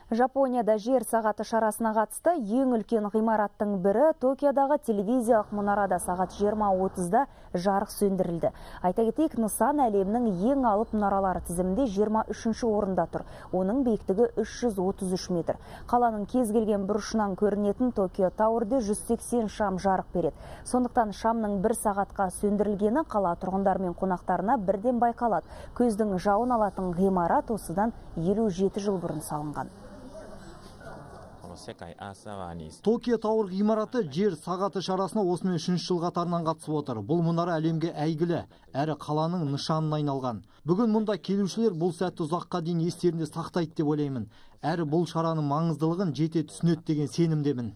Жапонияда жер сағаты шарасына қатысты ең үлкен ғимараттың бірі Токиодағы телевизиялық мұнарада сағат 20:30-да жарық сөндірілді. Айта кетейік, нысан әлемнің ең алып мұнаралары тізімінде 23-ші орында тұр. Оның биіктігі 333 метр. Қаланың кез келген бұрышынан көрінетін Токио Тауэрде 180 шам жарық береді. Сондықтан шамның 1 сағатқа сөндірілгені қала тұрғындар мен қонақтарына бірден байқалады. Көздің жауын алатын ғимарат осыдан 57 жыл бұрын салынған. Токио Тауэр ғимараты жер сағаты шарасына осымен 3-ші жыл қатарынан қатысып отыр. Бұл мұнара әлемге әйгілі, әрі қаланың нышанына айналған. Бүгін мұнда келушілер бұл сәтті ұзаққа дейін естерінде сақтайды деп ойлаймын. Әрі бұл шараның маңыздылығын жете түсінеді деген сенімдемін.